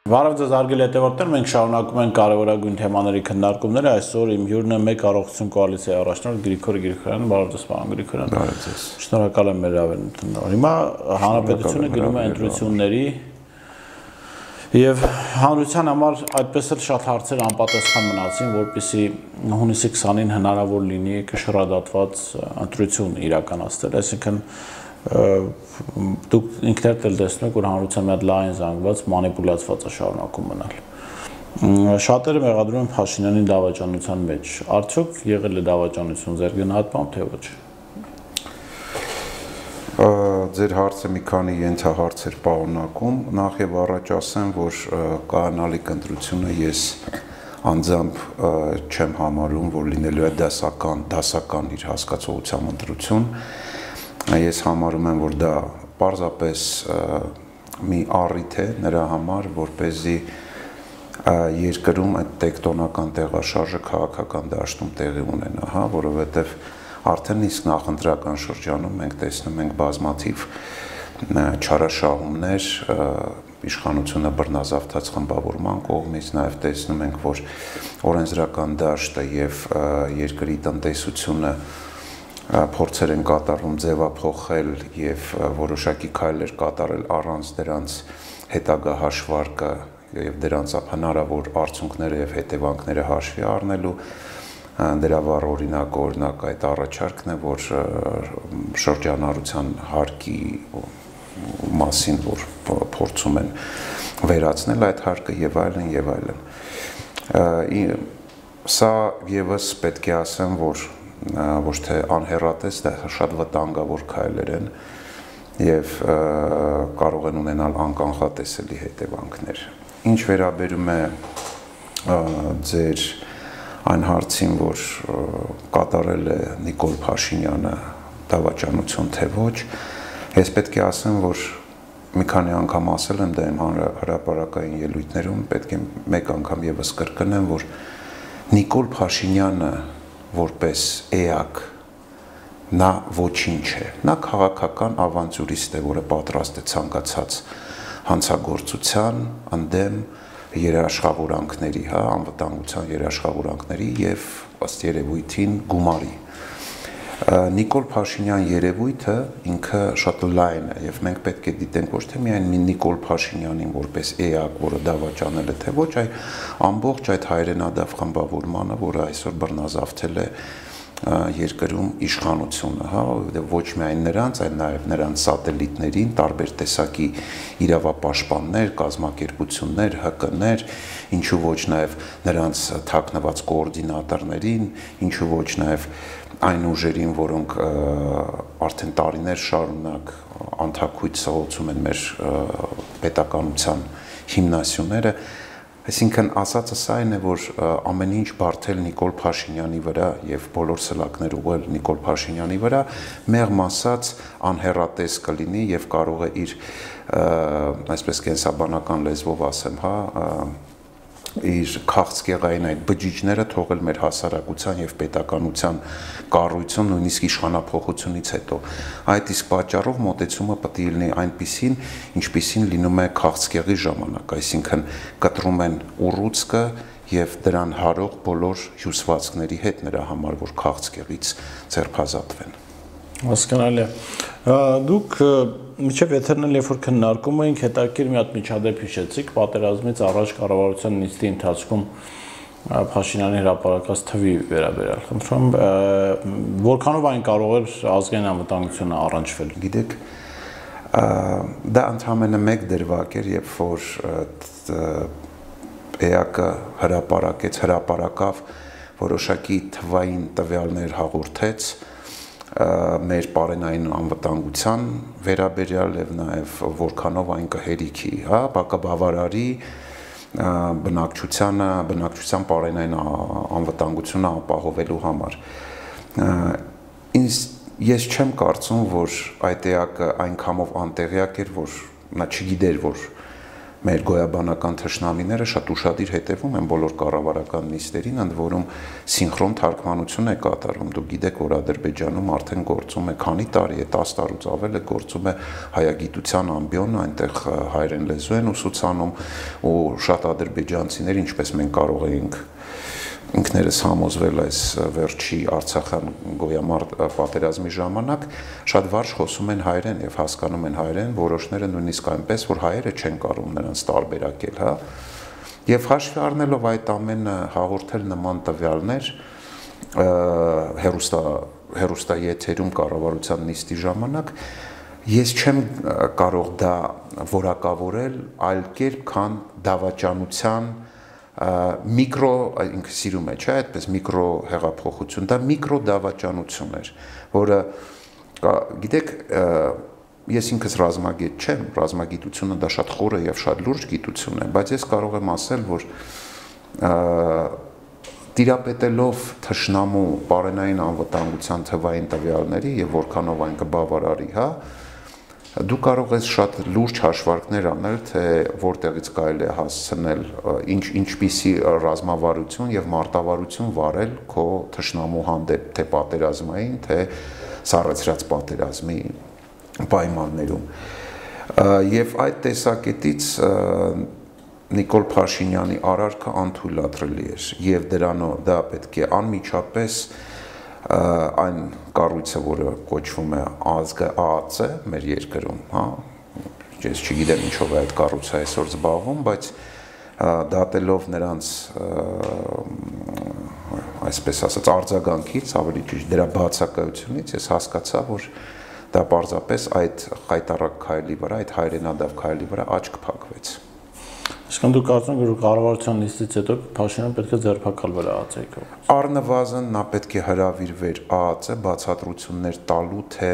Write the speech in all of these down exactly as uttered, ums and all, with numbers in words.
Բարև ձեզ հարգելի հետևորդներ, մենք շարունակում ենք կարևորագույն թեմաների քննարկումները, այսօր իմ հյուրն է մեկ առողջություն կոալիցիայի առաջնորդ Գրիգոր Գրիգորյանը, բարև ձեզ պարոն Գրիգորյան։ Բարև ձեզ։ Շնորհակալ եմ մեր հավելումն։ Հիմա հանրապետությունը գնում է ընտրությունների եւ հանրության համար այդպես էլ շատ հարցեր անպատասխան մնացին, որպեսզի հունիսի քսանին հնարավոր լինի կշռադատված ընտրություն իրականացնել, այսինքն դուք ինքներդ էլ տեսնում եք, որ հանրության մի հատ լայն զանգված մանիպուլացված է շարունակում մնալ։ Շատերը մեղադրում են Փաշինյանին դավաճանության մեջ։ Արդյոք եղել է դավաճանություն ձեր գնահատմամբ, թե ոչ։ Ձեր հարցը մի քանի ենթահարցեր պարունակում։ Նախ եւ առաջ ասեմ, որ կանալիք ընտրությունը ես անձամբ չեմ համարում, որ լինելու է դասական, դասական իր հասկացողությամբ ընտրություն։ Ես համարում եմ, որ դա պարզապես մի առիթ է նրա համար, որպեսզի երկրում այդ տեկտոնական տեղաշարժը քաղաքական դաշտում տեղի ունենա, հա, որովհետև արդեն իսկ նախընտրական շրջանում մենք տեսնում ենք բազմաթիվ չարաշահումներ իշխանությունը բռնազավթած խմբավորման կողմից, նաև տեսնում ենք, որ օրենսդրական դաշտը եւ երկրի տնտեսությունը փորձեր են կատարվում ձևափոխել եւ որոշակի քայլեր կատարել առանց դրանց հետագա հաշվարկը եւ դրանց հնարավոր արդյունքները եւ հետևանքները հաշվի առնելու դրա վառ օրինակ օրինակ այդ առաջարկն է, որ շրջանառության հարկի մասին որ փորձում են վերացնել այդ հարկը եւ այլն եւ այլն։ Սա եւս պետք է ասեմ, որ ոչ թե անհեռատես, դա շատ վտանգավոր քայլեր են եւ կարող են ունենալ անկանխատեսելի հետևանքներ։ Ինչ վերաբերում է ձեր այն հարցին, որ կատարել է Նիկոլ Փաշինյանը դավաճանություն թե ոչ, ես պետք է ասեմ, որ մի քանի անգամ ասել եմ դա իմ հրապարակային ելույթներում, պետք է մեկ անգամ եւս կրկնեմ, որ Նիկոլ Փաշինյանը որպես էակ նա ոչինչ է, նա քաղաքական ավանտյուրիստ է, որը պատրաստ է ցանկացած հանցագործության, ընդդեմ երաշխավորանքների, հա, անվտանգության երաշխավորանքների եւ ըստ երևույթին գումարի։ Նիկոլ Փաշինյան երևույթը ինքը շատ լայն է եւ մենք պետք է դիտենք ոչ թե միայն Նիկոլ Փաշինյանին որպես էակ, որը դավաճանել է թե ոչ, այլ ամբողջ այդ հայրենադավ խմբավորմանը, որը այսօր բռնազավթել է երկրում իշխանությունը, հա, ոչ միայն նրանց, այլ նաև նրանց սատելիտներին, տարբեր տեսակի իրավապաշտպաններ, կազմակերպություններ, Հ Կ-ներ, ինչու ոչ նաև նրանց թաքնված կոորդինատորներին, ինչու ոչ նաև այն ուժերին, որոնք արդեն տարիներ շարունակ անթաքույց սղոցում են մեր պետականության հիմնասյուները, այսինքն ասածս այն է, որ ամեն ինչ բարդել Նիկոլ Փաշինյանի վրա եւ բոլոր սլակներ ուղղել Նիկոլ Փաշինյանի վրա, մեղմ ասած անհեռատես կլինի եւ կարող է իր այսպես կենսաբանական լեզվով ասեմ, հա, իր քաղցկեղային այդ բջիջները թողել մեր հասարակության եւ պետականության կառույցում նույնիսկ իշխանափոխությունից հետո։ Այդ իսկ պատճառով մոտեցումը պետք է լինի այնպիսին, ինչպիսին լինում է քաղցկեղի ժամանակ, այսինքն կտրում են ուռուցքը եւ դրան հարող բոլոր հյուսվածքների հետ նրա համար, որ քաղցկեղից ձերբազատվեն։ Հասկանալի է։ Դուք միջև եթերն էլ երբ որ քննարկում էինք, հետաքրքիր մի հատ միջադեպ հիշեցիք պատերազմից առաջ կառավարության նիստի ընթացքում Փաշինյանի հրապարակած թվի վերաբերյալ։ Խնդրում եմ, որքանով այն կարող էր ազգային անվտանգությունը առնչվել։ Գիտեք, դա ընդհանրապես մեկ դրվագ էր, երբ որ էակը հրապարակեց, հրապարակավ որոշակի թվային տվյալներ հաղորդեց մեր պարենային անվտանգության վերաբերյալ եւ նաեւ որքանով այն կհերիքի, հա, բակաբավարարի բնակչությանը, բնակչության պարենային անվտանգությունը ապահովելու համար։ Ինձ ես չեմ կարծում, որ այդ էակը այնքանով անտեղյակ էր, որ նա չգիտեր, որ մեր գոյաբանական թշնամիները շատ ուշադիր հետևում են բոլոր կառավարական նիստերին, ընդ որում սինխրոն թարգմանություն է կատարում։ Դուք գիտեք, որ Ադրբեջանում արդեն գործում է քանի տարի է, տասը տարուց ավել է գործում է հայագիտության ամբիոն, այնտեղ հայերեն լեզու են ուսուցանում ու շատ ադրբեջանցիներ, ինչպես մենք կարող էինք ինքներս համոզվել այս վերջի Արցախյան գոյամարտ պատերազմի ժամանակ շատ վարժ խոսում են հայերեն եւ հասկանում են հայերեն, որոշները նույնիսկ այնպես, որ հայերը չեն կարող նրանց տարբերակել, հա։ Եվ հաշվի առնելով այդ ամենը հաղորդել նման տվյալներ հերոստա հերոստաեթերում կառավարության նիստի ժամանակ ես չեմ կարող դա որակավորել այլ կերպ, քան դավաճանության միկրո, ինքը սիրում է, չէ, այդպես միկրո հեղափոխություն, դա միկրո դավաճանություն էր, որը, գիտեք, ես ինքս ռազմագետ չեմ, ռազմագիտությունը դա շատ խորը և շատ լուրջ գիտություն է, բայց ես կարող եմ ասել, որ տիրապետելով թշնամու պարենային անվտանգության թվային տվյալների և որքանով այն կբավարարի, հա, դու կարող ես շատ լուրջ հաշվարկներ անել, թե որտեղից կարելի է հասցնել, ինչպիսի ռազմավարություն և մարտավարություն վարել քո թշնամու հանդեպ, թե պատերազմային, թե սառեցրած պատերազմի պայմաններում։ Եվ այդ տեսակետից Նիկոլ Փաշինյանի արարքը անթույլատրելի էր, և դրանով դա պետք է անմիջապես այն կառույցը, որը կոչվում է ԱԱԾ մեր երկրում, հա, ես չգիտեմ ինչով է այդ կառույցը այսօր զբաղվում, բայց դատելով նրանց այսպես ասած արձագանքից, ավելի ճիշտ դրա բացակայությունից, ես հասկացա, որ դա պարզապես այդ խայտառակ քայլի վրա, այդ հայրենադավ քայլի վրա աչք փակվեց։ Այսինքն դու կարծում ես, որ կառավարության նիստից հետո Փաշինյանը պետք է ձերբակալվեր ԱԱԾ-ի կողմից։ Առնվազն նա պետք է հրավիրվեր ԱԱԾ բացատրություններ տալու, թե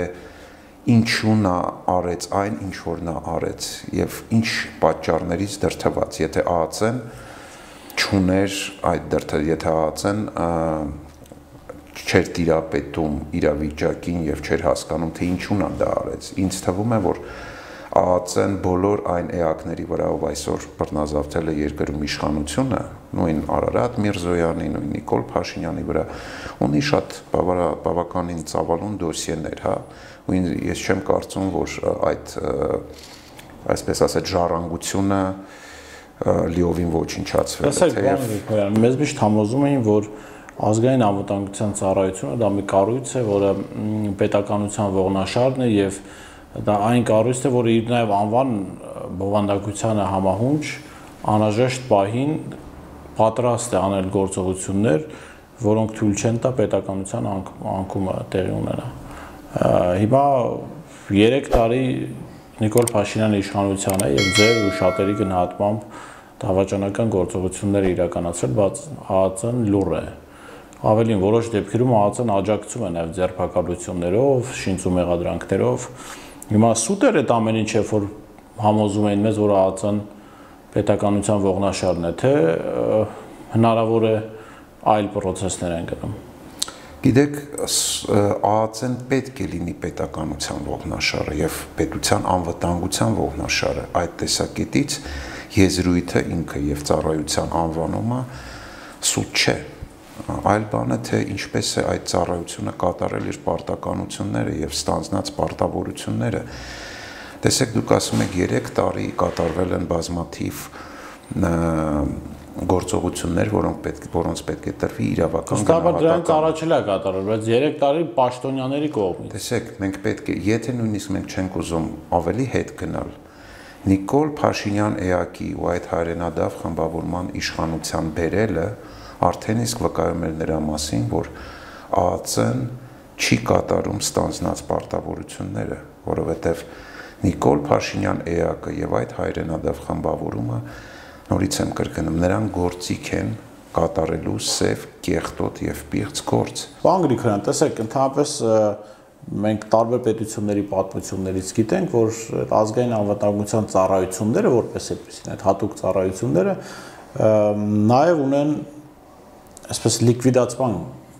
ինչու նա արեց այն, ինչ որ նա արեց եւ ինչ պատճառներից դրդված, եթե ԱԱԾ-ն չուներ այդ դրդը, եթե ԱԱԾ-ն չէր տիրապետում իրավիճակին եւ չէր հասկանում, թե ինչու նա դա արեց։ Ինձ թվում է, որ ԱԱԾ-ն բոլոր այն էակների վրա, ով այսօր բռնազավթել է երկրում իշխանությունը, նույն Արարատ Միրզոյանի, նույն Նիկոլ Փաշինյանի վրա, ունի շատ բավականին ծավալուն դոսիեներ, հա, ու ես չեմ կարծում, որ այդ, այսպես ասած, ժառանգությունը լիովին ոչնչացվել է։ Տեսեք, բան, մեզ միշտ համոզում էին, որ ազգային անվտանգության ծառայությունը դա մի կառույց է, որը պետականության ողնաշարն է եւ դա այն կառույցն է, որը իր նաև անվան բովանդակությանը համահունչ անհրաժեշտ պահին պատրաստ է անել գործողություններ, որոնք թույլ չեն տա պետականության անկումը տեղի ունենա։ Հիմա երեք տարի Նիկոլ Փաշինյանի իշխանության է եւ ձեր ու շատերի գնահատմամբ դավաճանական գործողություններ իրականացրել, բայց ԱԱԾ-ն լուռ է։ Ավելին, որոշ դեպքերում ԱԱԾ-ն աջակցում է նաև ձերբակալություններով, շինծու մեղադրանքներով։ Հիմա սուտ էր այդ ամեն ինչը, որ համոզում էին մեզ, որ ԱԱԾ-ն պետականության ողնաշարն է, թե հնարավոր է այլ պրոցեսներ են գնում։ Գիտեք, ԱԱԾ-ն պետք է լինի պետականության ողնաշարը եւ պետության անվտանգության ողնաշարը։ Այդ տեսակետից եզրույթը ինքը եւ ծառայության անվանումը սուտ չէ։ Այլ բանը, թե ինչպես է այդ ծառայությունը կատարել իր պարտականությունները եւ ստանձնած պարտավորությունները։ Տեսեք, դուք ասում եք երեք տարի կատարվել են բազմաթիվ գործողություններ, որոնք պետք որոնց պետք է տրվի իրավական գնահատական։ Դրանից առաջել է կատարվել, բայց երեք տարի պաշտոնյաների կողմից։ Տեսեք, մենք պետք է, եթե նույնիսկ մենք չենք ուզում ավելի հետ գնալ, Նիկոլ Փաշինյան էակի ու այդ հայրենադավ խմբավորման իշխանության բերելը արդեն իսկ վկայում էր նրա մասին, որ ԱԱԾ-ն չի կատարում ստանձնած պարտավորությունները, որովհետև Նիկոլ Փաշինյան էակը եւ այդ հայրենադավ խմբավորումը, նորից եմ կրկնում, նրան գործիք են կատարելու սև, կեղտոտ եւ պիղծ գործ։ Պարոն Գրիգորյան, տեսեք, ընդհանրապես մենք տարբեր պետությունների պատմություններից գիտենք, որ ազգային անվտանգության ծառայությունները, որպես այդպեսին, այդ հատուկ ծառայությունները նաեւ ունեն այսպես լիկվիդացման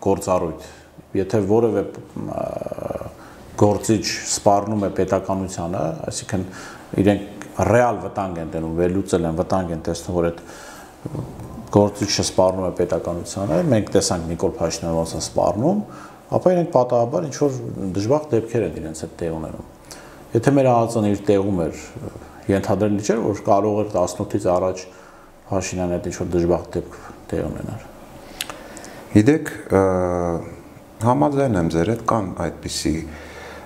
գործառույթ, եթե որևէ գործիչ սպառնում է պետականությանը, այսինքն իրենք ռեալ վտանգ են տենում, վերլուծել են, վտանգ են տեսնում, որ այդ գործիչը սպառնում է պետականությանը, մենք տեսանք Նիկոլ Փաշինյանը ոնց է սպառնում, ապա իրենք պատահաբար ինչ որ դժբախտ դեպքեր են իրենց հետ տեղ ունենում։ Եթե մեր ԱԱԾ-ն իր տեղում էր, ենթադրելի չէր, որ կարող էր տասնութից առաջ Փաշինյանը հետ ինչ որ դժբախտ դեպք տեղ ունենար։ Գիտեք, համաձայն եմ ձեր հետ, կան այդպիսի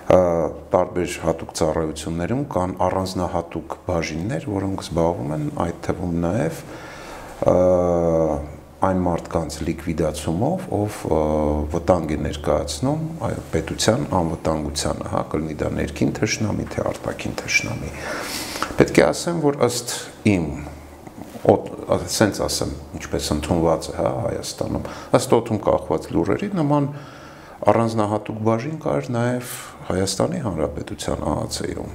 տարբեր հատուկ ծառայություններում կան առանձնահատուկ բաժիններ, որոնք զբաղվում են այդ թվում նաև այն մարդկանց լիկվիդացումով, ով վտանգ է ներկայացնում պետության անվտանգությանը, հա, կլինի դա ներքին թշնամի, թե արտաքին թշնամի։ Պետք է ասեմ, որ ըստ իմ, ասենց ասեմ, ինչպես ընդունված է, հա, Հայաստանում, ըստ օդում կախված լուրերի, նման առանձնահատուկ բաժին կար նաև Հայաստանի Հանրապետության ԱԱԾ-ում,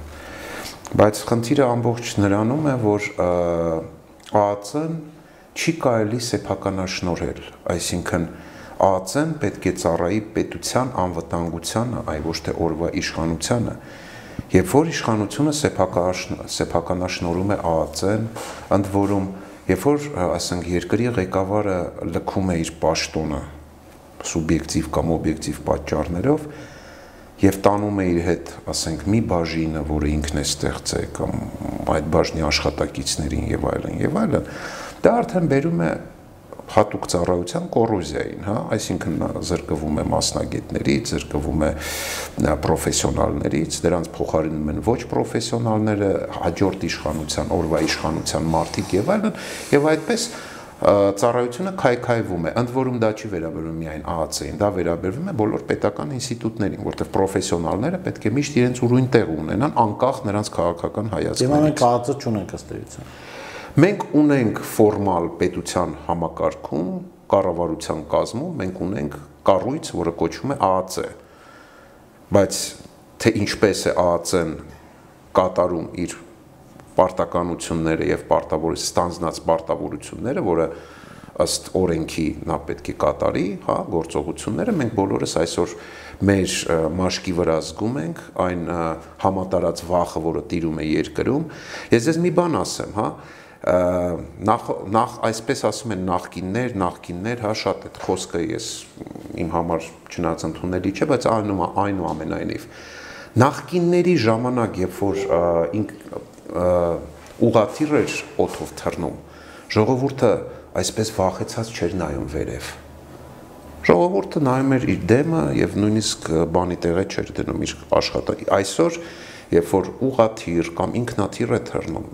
բայց խնդիրը ամբողջ նրանում է, որ ԱԱԾ-ն չի կարելի սեփականաշնորհել, այսինքն ԱԱԾ-ն պետք է ծառայի պետության անվտանգությանը, այլ ոչ թե օրվա իշխանությանը, երբ որ իշխանությունը սեփականաշնորհում է ԱԱԾ-ն, ընդ որում, երբ որ, ասենք, երկրի ղեկավարը լքում է իր պաշտոնը սուբյեկտիվ կամ օբյեկտիվ պատճառներով եւ տանում է իր հետ, ասենք, մի բաժինը, որը ինքն է ստեղծել կամ այդ բաժնի աշխատակիցներին եւ այլն եւ այլն, դա արդեն բերում է հատուկ ծառայության կոռոզիային, հա, այսինքն զրկվում է մասնագետներից, զրկվում է պրոֆեսիոնալներից, դրանց փոխարինում են ոչ պրոֆեսիոնալները, հաջորդ իշխանության, օրվա իշխանության մարդիկ եւ այլն, եւ այդպես ծառայությունը քայքայվում է, ընդ որում դա չի վերաբերվում միայն ԱԱԾ-ին, դա վերաբերվում է բոլոր պետական ինստիտուտներին, որտեղ պրոֆեսիոնալները պետք է միշտ իրենց ուրույն տեղ ունենան, անկախ նրանց քաղաքական հայացքներից։ Դե մենք ԱԱԾ չունենք ըստ էության։ Մենք ունենք ֆորմալ պետության համակարգում, կառավարության կազմում, մենք ունենք կառույց, որը կոչվում է ԱԱԾ, բայց թե ինչպես է ԱԱԾ-ն կատարում իր պարտականությունները եւ պարտավոր ստանձնած պարտավորությունները, որը ըստ օրենքի նա պետք է կատարի, հա, գործողությունները, մենք բոլորս այսօր մեր մաշկի վրա զգում ենք այն համատարած վախը, որը տիրում է երկրում։ Ես ձեզ մի բան ասեմ, հա, նախ նախ այսպես ասում են նախկիններ, նախկիններ, հա, շատ այդ խոսքը ես իմ համար չնայած ընդունելի չէ, բայց այնուամենայնիվ նախկինների ժամանակ, երբ որ ինք ուղղաթիռ էր օդով թռնում, ժողովուրդը այսպես վախեցած չէր նայում վերև։ Ժողովուրդը նայում էր իր դեմը եւ նույնիսկ բանի տեղը չէր դնում իր աշխատանքի։ Այսօր, երբ որ ուղղաթիռ կամ ինքնաթիռ է թռնում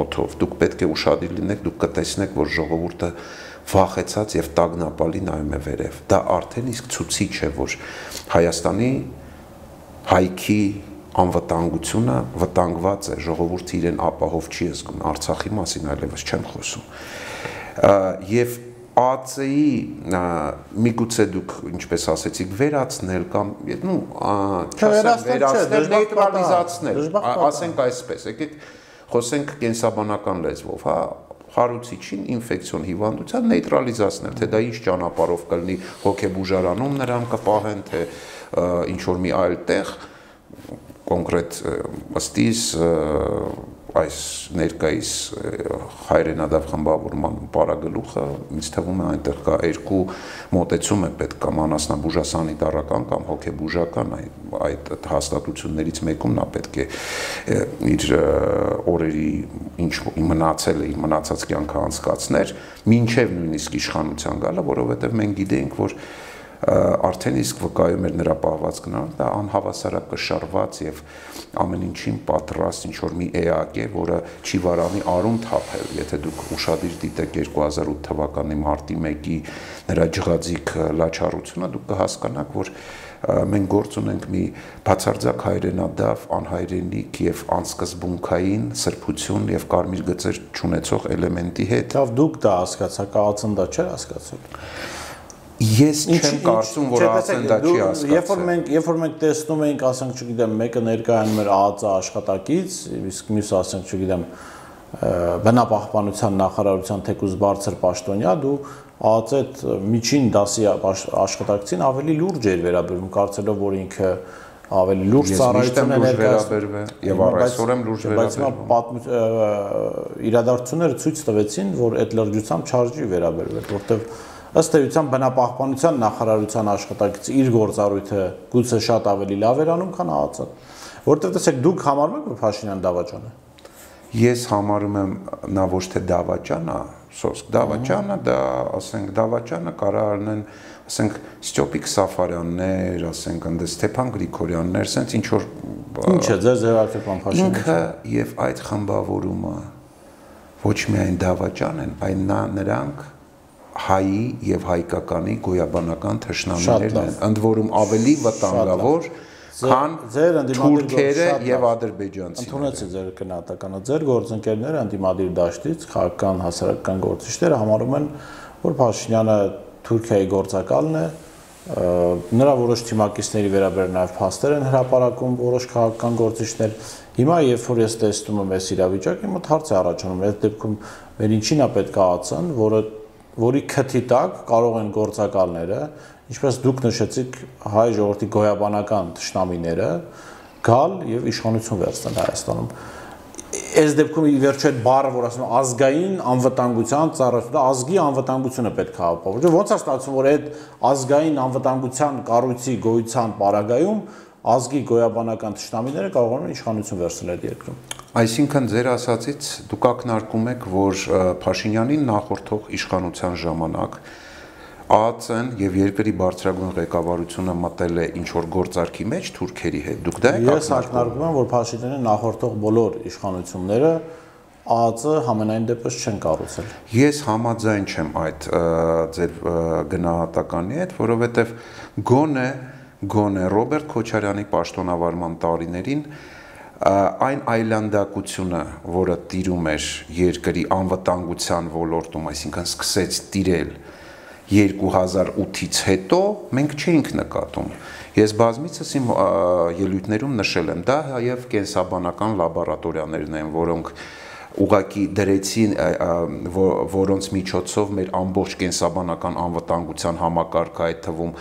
օդով, դուք պետք է ուշադիր լինեք, դուք կտեսնեք, որ ժողովուրդը վախեցած եւ տագնապալի նայում է վերև։ Դա արդեն իսկ ցույցիչ է, որ Հայաստանի հայքի անվտանգությունը վտանգված է, ժողովուրդը իրեն ապահով չի զգում, Արցախի մասին այլևս չեմ խոսում։ Եվ ԱԱԾ-ի միգուցե դուք, ինչպես ասեցիք, վերացնել կամ, նու, չասեմ վերացնել, նեյտրալիզացնել, ասենք այսպես, եկեք խոսենք կենսաբանական լեզվով, հա, խարուցիչին ինֆեկցիոն հիվանդության նեյտրալիզացնել, թե դա ինչ ճանապարհով կլինի, հոգեբուժարանում նրան կպահեն, թե ինչ որ մի այլ տեղ, կոնկրետ ըստիս այս ներկայիս հայրենադավ խմբավորման պարագլուխը ինձ թվում է այնտեղ կա երկու մոտեցում է պետք կամ անասնաբուժասանիտարական կամ հոգեբուժական այդ հաստատություններից մեկում նա պետք է իր օրերի ինչ մնացել է իր մնացած կյանքը անցկացներ մինչև նույնիսկ իշխանության գալը, որովհետև մենք գիտենք, որ արդեն իսկ վկայում էր նրա պահվածքն, դա անհավասարակշռված եւ ամեն ինչին պատրաստ ինչ որ մի էակ է, որը չի վարանի արուն թափել, եթե դուք ուշադիր դիտեք երկու հազար ութ թվականի մարտի մեկի նրա ջղաձիգ լաչառությունը, դուք կհասկանաք, որ մենք գործ ունենք մի բացարձակ հայրենադավ, անհայրենիք եւ անսկզբունքային սրբություն եւ կարմիր գծեր չունեցող էլեմենտի հետ։ Լավ, դուք դա հասկացաք, ԱԱԾ-ն դա չէր հասկացել։ Ես չեմ կարծում, որ ԱԱԾ-ն դա չի հասկացել։ Երբ որ մենք, երբ որ մենք տեսնում էինք, ասենք, չգիտեմ, մեկը ներկայանում էր ԱԱԾ աշխատակից, իսկ մյուսը, ասենք, չգիտեմ, բնապահպանության նախարարության թեկուզ բարձր պաշտոնյա, դու ԱԱԾ այդ միջին դասի աշխատակցին ավելի լուրջ էր վերաբերվում, կարծելով, որ ինքը ավելի լուրջ ծառայություն է ներկայացնում եւ առայսօր եմ լուրջ վերաբերվում։ Իրադարձությունները ցույց տվեցին, որ այդ լրջությամբ չարժի վերաբերվել, որտեղ ըստ էության բնապահպանության նախարարության աշխատակիցը իր գործառույթը գուցե շատ ավելի լավ էր անում, քան ԱԱԾ-ը։ Որտեղ տեսեք դուք համարում եք, որ Փաշինյան դավաճան է։ Ես համարում եմ նա ոչ թե դավաճան է, սոսկ դավաճանը, դա ասենք դավաճանը կարա առնեն, ասենք Ստյոպիկ Սաֆարյաններ, ասենք ընդ Ստեփան Գրիգորյաններ, ասենց ինչ որ Ինչ է ձեր ձևակերպման Փաշինյանը։ Ինքը եւ այդ խմբավորումը ոչ միայն դավաճան են, այլ նա նրանք հայի եւ հայկականի գոյաբանական թշնամիներն են, ընդ որում ավելի վտանգավոր քան թուրքերը եւ ադրբեջանցիները։ Ընդունեցի ձեր գնահատականը։ Ձեր գործընկերները ընդդիմադիր դաշտից քաղաքական հասարակական գործիչները համարում են, որ Փաշինյանը Թուրքիայի գործակալն է, նրա որոշ թիմակիցների վերաբերյալ նաեւ փաստեր են հրապարակում որոշ քաղաքական գործիչներ։ Հիմա երբ որ ես տեսնում եմ այս իրավիճակը, մոտ հարց է առաջանում, այդ դեպքում մեր ինչին է պետք ԱԱԾ-ն, որը որի քթի տակ կարող են գործակալները, ինչպես դուք նշեցիք, հայ ժողովրդի գոյաբանական թշնամիները գալ եւ իշխանություն վերցնել Հայաստանում։ Այս դեպքում ի վերջո այդ բառը, որ ասում են ազգային անվտանգության ծառայությունը, ազգի անվտանգությունը պետք է ապահովի։ Ոնց է ստացվում, որ այդ ազգային անվտանգության կառույցի գոյության պարագայում ազգի գոյաբանական թշնամիները կարող են իշխանություն վերցնել այդ երկրում։ Այսինքն ձեր ասածից դուք ակնարկում եք, որ Փաշինյանին նախորդող իշխանության ժամանակ ԱԱԾ-ն եւ երկրի բարձրագույն ղեկավարությունը մտել է ինչ որ գործարքի մեջ թուրքերի հետ։ Դուք դա եք ակնարկում։ Ես ակնարկում եմ, որ Փաշինյանի նախորդող բոլոր իշխանությունները ԱԱԾ համենայն դեպս չեն կառուցել։ Ես համաձայն չեմ այդ ձեր գնահատականի հետ, որովհետեւ գոնե գոնե Ռոբերտ Քոչարյանի պաշտոնավարման տարիներին այն այլանդակությունը, որը տիրում էր երկրի անվտանգության ոլորտում, այսինքն սկսեց տիրել երկու հազար ութից հետո, մենք չէինք նկատում։ Ես բազմիցս իմ ելույթներում նշել եմ, դա եւ կենսաբանական լաբորատորիաներն են, որոնք ուղղակի դրեցին, որոնց միջոցով մեր ամբողջ կենսաբանական անվտանգության համակարգը, այդ թվում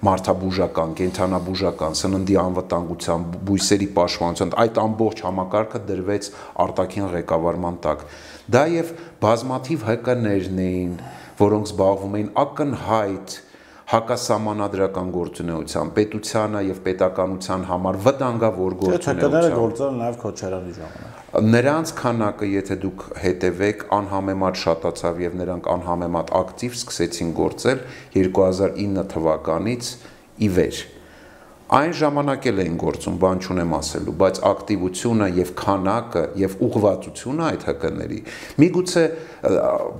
մարդաբուժական, կենթանաբուժական, սննդի անվտանգության, բույսերի պաշտպանության, այդ ամբողջ համակարգը դրվեց արտաքին ղեկավարման տակ։ Դա եւ բազմաթիվ ՀԿ-ներն էին, որոնք զբաղվում էին ակնհայտ հակասահմանադրական գործունեությամբ, պետությանը եւ պետականության համար վտանգավոր գործունեությամբ։ ՀԿ-ները գործել են նաեւ Քոչարյանի ժամանակ։ Նրանց քանակը, եթե դուք հետևեք, անհամեմատ շատացավ եւ նրանք անհամեմատ ակտիվ սկսեցին գործել երկու հազար ինը թվականից ի վեր։ Այն ժամանակ էլ էին գործում, բան չունեմ ասելու, բայց ակտիվությունը եւ քանակը եւ ուղղվածությունը այդ ՀԿ-ների միգուցե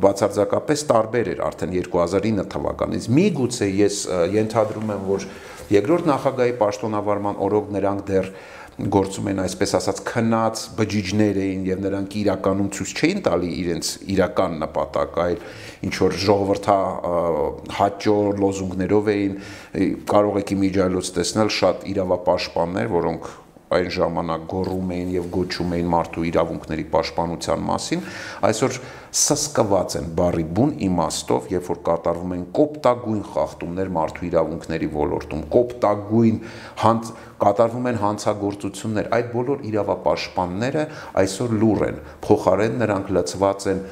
բացարձակապես տարբեր էր արդեն երկու հազար ինը թվականից։ Միգուցե ես ենթադրում եմ, որ երկրորդ նախագահի պաշտոնավարման օրոք նրանք դեռ գործում են այսպես ասած քնած բջիջներ էին եւ նրանք իրականում ցույց չէին տալի իրենց իրական նպատակ, այլ ինչ որ ժողովրդա հաճո լոզունգներով էին, կարող եք իմիջիայլոց տեսնել շատ իրավապաշտպաններ, որոնք այն ժամանակ գոռում էին եւ գոչում էին մարդու իրավունքների պաշտպանության մասին, այսօր սսկված են բարի բուն իմաստով, երբ որ կատարվում են կոպտագույն խախտումներ մարդու իրավունքների ոլորտում, կոպտագույն հանց կատարվում են հանցագործություններ, այդ բոլոր իրավապաշտպանները այսօր լուռ են, փոխարեն նրանք լծված են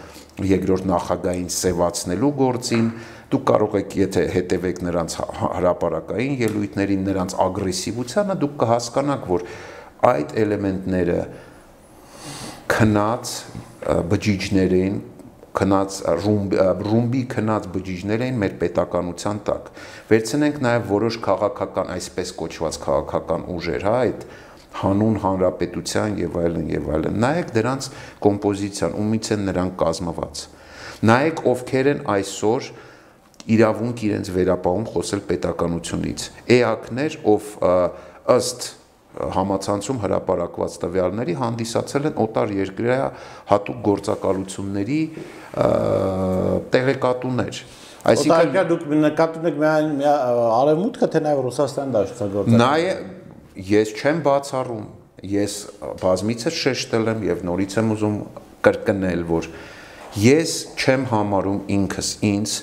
երկրորդ նախագահին սևացնելու գործին։ Դուք կարող եք, եթե հետևեք նրանց հրապարակային ելույթներին, նրանց ագրեսիվությանը, դուք կհասկանաք, որ այդ էլեմենտները քնած բջիջներ են, քնած ռումբի քնած բջիջներ են մեր պետականության տակ։ Վերցնենք նաև որոշ քաղաքական, այսպես կոչված քաղաքական ուժեր, հա, այդ հանուն հանրապետության եւ այլն եւ այլն։ Նայեք դրանց կոմպոզիցիան, ումից են նրանք կազմված։ Նայեք ովքեր են այսօր իրավունք իրենց վերապահում խոսել պետականությունից։ Էակներ, ով ըստ համացանցում հրապարակված տվյալների հանդիսացել են օտար երկրի հատուկ գործակալությունների տեղեկատուներ։ Այսինքն դուք նկատում եք միայն Արևմուտքը, թե նաև Ռուսաստանի դաշնակցությունը։ Նաեւ ես չեմ բացառում, ես բազմիցս շեշտել եմ եւ նորից եմ ուզում կրկնել, որ ես չեմ համարում ինքս ինձ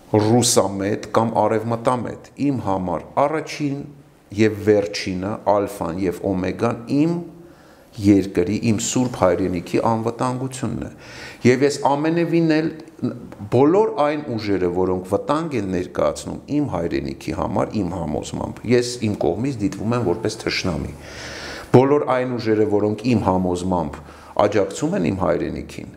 ռուսամետ կամ արևմտամետ։ Իմ համար առաջին եւ վերջինը, ալֆան եւ օմեգան իմ երկրի, իմ սուրբ հայրենիքի անվտանգությունն է։ Եվ ես ամենևին էլ բոլոր այն ուժերը, որոնք վտանգ են ներկայացնում իմ հայրենիքի համար, իմ համոզմամբ, ես իմ կողմից դիտվում եմ որպես թշնամի։ Բոլոր այն ուժերը, որոնք իմ համոզմամբ աջակցում են իմ հայրենիքին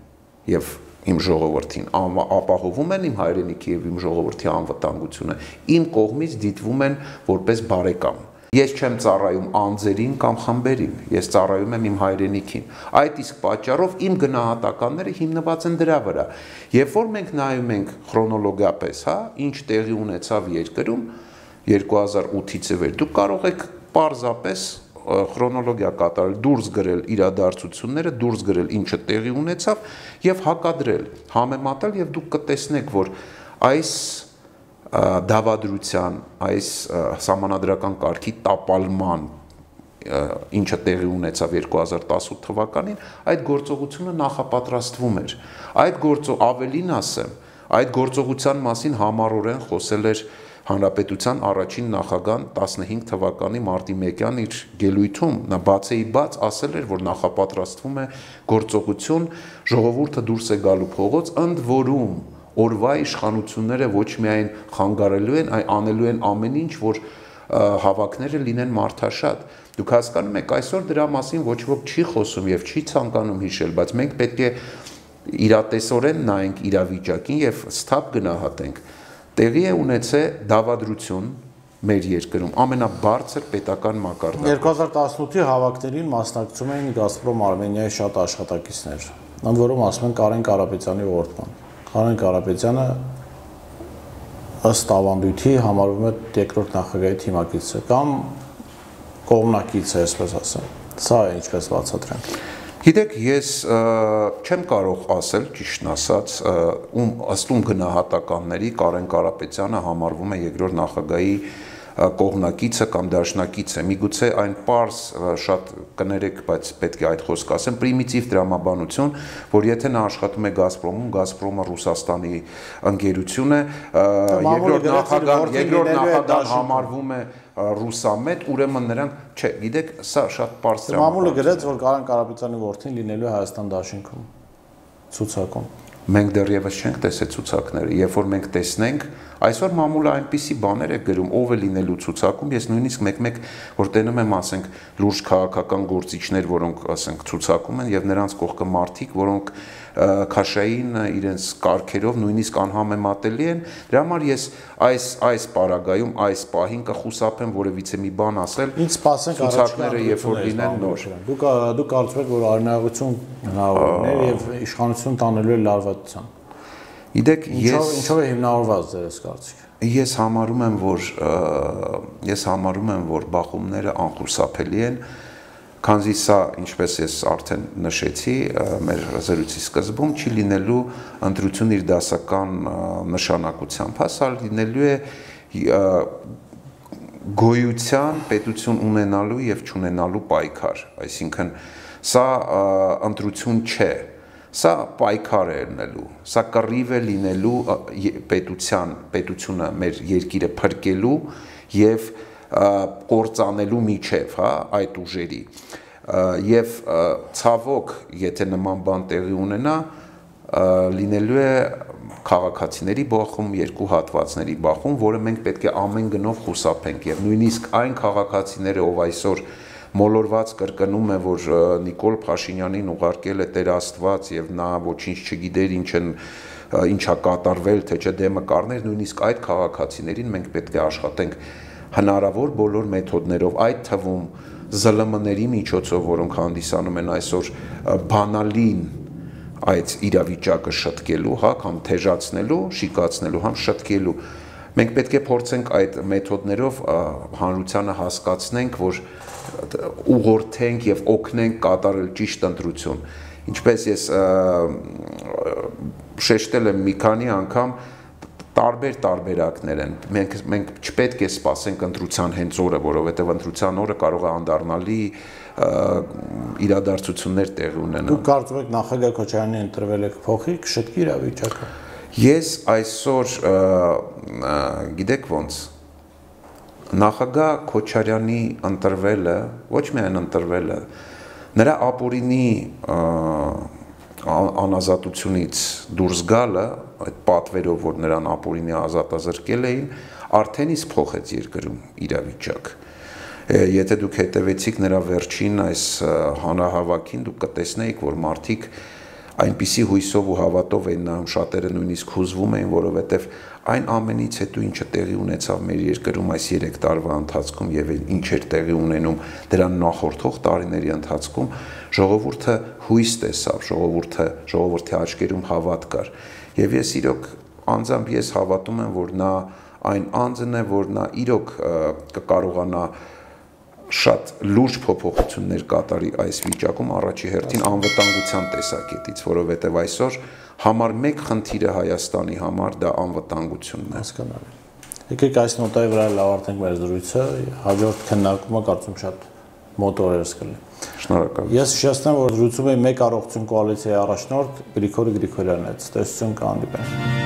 եւ իմ ժողովրդին, ապահովում են իմ հայրենիքի եւ իմ ժողովրդի անվտանգությունը, իմ կողմից դիտվում են որպես բարեկամ։ Ես չեմ ծառայում անձերին կամ խմբերին, ես ծառայում եմ իմ հայրենիքին։ Այդ իսկ պատճառով իմ գնահատականները հիմնված են դրա վրա։ Երբ որ մենք նայում ենք քրոնոլոգիապես, հա, ինչ տեղի ունեցավ երկրում երկու հազար ութից ի վեր, դուք կարող եք պարզապես քրոնոլոգիա կատարել, դուրս գրել իրադարձությունները, դուրս գրել ինչը տեղի ունեցավ եւ հակադրել, համեմատել եւ դուք կտեսնեք, որ այս դավադրության, այս սահմանադրական կարգի տապալման, ինչը տեղի ունեցավ երկու հազար տասութ թվականին, այդ գործողությունը նախապատրաստվում էր։ Այդ գործող ավելին ասեմ, այդ գործողության մասին համառորեն խոսել էր Հանրապետության առաջին նախագահան տասնհինգ թվականի մարտի մեկյան իր գելույթում, նա բացեի բաց ասել էր, որ նախապատրաստվում է գործողություն, ժողովուրդը դուրս է գալու փողոց, ընդ որում օրվա իշխանությունները ոչ միայն խանգարելու են, այլ անելու են ամեն ինչ, որ հավաքները լինեն մարդաշատ։ Դուք հասկանում եք, այսօր դրա մասին ոչ ոք չի խոսում եւ չի ցանկանում հիշել, բայց մենք պետք է իրատեսորեն նայենք իրավիճակին եւ սթափ գնահատենք։ Տեղի է ունեցել դավադրություն մեր երկրում ամենաբարձր պետական մակարդակով։ երկու հազար տասնութի հավաքներին մասնակցում էին Գազպրոմ Արմենիայի շատ աշխատակիցներ։ Ընդ որում ասում են Կարեն Կարապետյանի որդման։ Կարեն Կարապետյանը ըստ ավանդույթի համարվում է երկրորդ նախագահի թիմակիցը կամ կողմնակիցը, այսպես ասեմ։ Սա է ինչպես բացատրենք։ Գիտեք, ես չեմ կարող ասել, ճիշտն ասած, ում ըստ ում գնահատականների Կարեն Կարապետյանը համարվում է երկրորդ նախագահի կողմնակիցը կամ դաշնակիցը։ Միգուցե այն պարզ շատ կներեք, բայց պետք է այդ խոսքը ասեմ, պրիմիտիվ դրամաբանություն, որ եթե նա աշխատում է Գազպրոմում, Գազպրոմը Ռուսաստանի ընկերություն է, երկրորդ նախագահ, երկրորդ նախագահ համարվում է ռուսամետ, ուրեմն նրանք, չէ, գիտեք, սա շատ պարզ դրամաբանություն։ Մամուլը գրեց, որ Կարեն Կարապետյանի որդին լինելու է Հայաստան դաշինքում ցուցակում։ Մենք դեռևս չենք տեսել ցուցակները, երբ որ մենք տեսնենք, այսօր մամուլը այնպիսի բաներ է գրում, ով է լինելու ցուցակում, ես նույնիսկ մեկ-մեկ որ տենում եմ, ասենք, լուրջ քաղաքական գործիչներ, որոնք, ասենք, ցուցակում են եւ նրանց կողքը մարդիկ, որոնք քաշային իրենց կարգերով նույնիսկ անհամեմատելի են, դրա համար ես այս այս պարագայում, այս պահին կխուսափեմ որևիցե մի բան ասել, ինչ սպասենք ցուցակները երբ որ լինեն նոր։ Դուք դուք կարծում եք, որ արնայողություն հնարավորներ եւ իշխանություն տանելու է լարվածության։ Գիտեք, ես ինչով է հիմնավորված ձեր կարծիքը։ Ես համարում եմ, որ ես համարում եմ, որ բախումները անխուսափելի են, քանզի սա, ինչպես ես արդեն նշեցի, մեր զրույցի սկզբում չի լինելու ընտրություն իր դասական նշանակությամբ, սա լինելու է գոյության, պետություն ունենալու եւ չունենալու պայքար, այսինքն սա ընտրություն չէ, սա պայքար է լինելու, սա կռիվ է լինելու պետության, պետությունը մեր երկիրը փրկելու եւ կործանելու միջև, հա, այդ ուժերի։ Եվ ցավոք, եթե նման բան տեղի ունենա, լինելու է քաղաքացիների բախում, երկու հատվածների բախում, որը մենք պետք է ամեն գնով խուսափենք եւ նույնիսկ այն քաղաքացիները, ով այսօր մոլորված կրկնում է, որ Նիկոլ Փաշինյանին ուղարկել է Տեր Աստված եւ նա ոչինչ չգիտեր, ինչ են ինչա կատարվել, թե չէ դեմը կառներ, նույնիսկ այդ քաղաքացիներին մենք պետք է աշխատենք հնարավոր բոլոր մեթոդներով, այդ թվում զլ մ-ների միջոցով, որոնք հանդիսանում են այսօր բանալին այդ իրավիճակը շտկելու, հա, կամ թեժացնելու, շիկացնելու, համ շտկելու։ Մենք պետք է փորձենք այդ մեթոդներով հանրությանը հասկացնենք, որ ուղղորդենք եւ օգնենք կատարել ճիշտ ընտրություն։ Ինչպես ես շեշտել եմ մի քանի անգամ, տարբեր տարբերակներ են։ Մենք մենք չպետք է սպասենք ընտրության հենց օրը, որովհետև ընտրության օրը կարող է անդառնալի իրադարձություններ տեղի ունենալ։ Դուք կարծում եք նախագահ Քոչարյանին ընտրվել եք փոխի կշտկի իրավիճակը։ Ես այսօր գիտեք ոնց նախագահ Քոչարյանի ընտրվելը, ոչ միայն ընտրվելը, նրա ապօրինի անազատությունից դուրս գալը, այդ պատվերով, որ նրան ապօրինի ազատազրկել էին, արդեն իսկ փոխեց երկրում իրավիճակ։ Եթե դուք հետևեցիք նրա վերջին այս հանրահավաքին, դուք կտեսնեիք, որ մարդիկ այնպիսի հույսով ու հավատով էին նայում, շատերը նույնիսկ հուզվում էին, որովհետև այն ամենից հետո ինչը տեղի ունեցավ մեր երկրում այս երեք տարվա ընթացքում եւ ինչ էր տեղի ունենում դրան նախորդող տարիների ընթացքում, ժողովուրդը հույս տեսավ, ժողովուրդը ժողովրդի աչքերում հավատ կար։ Եվ ես իրոք անձամբ ես հավատում եմ, որ նա այն անձն է, որ նա իրոք կկարողանա շատ լուրջ փոփոխություններ կատարի այս վիճակում, առաջի հերթին անվտանգության տեսակետից, որովհետև այսօր համար մեկ խնդիրը Հայաստանի համար դա անվտանգությունն է։ Հասկանալի։ Եկեք այս նոտայի վրա ավարտենք մեր զրույցը, հաջորդ քննարկումը կարծում շատ մոտ օրերս կլինի։ Շնորհակալ։ Ես հիշեցնեմ, որ զրուցում էի մեկ առողջություն կոալիցիայի առաջնորդ Գրիգորի Գրիգորյանն է։ Տեսություն կհանդիպենք։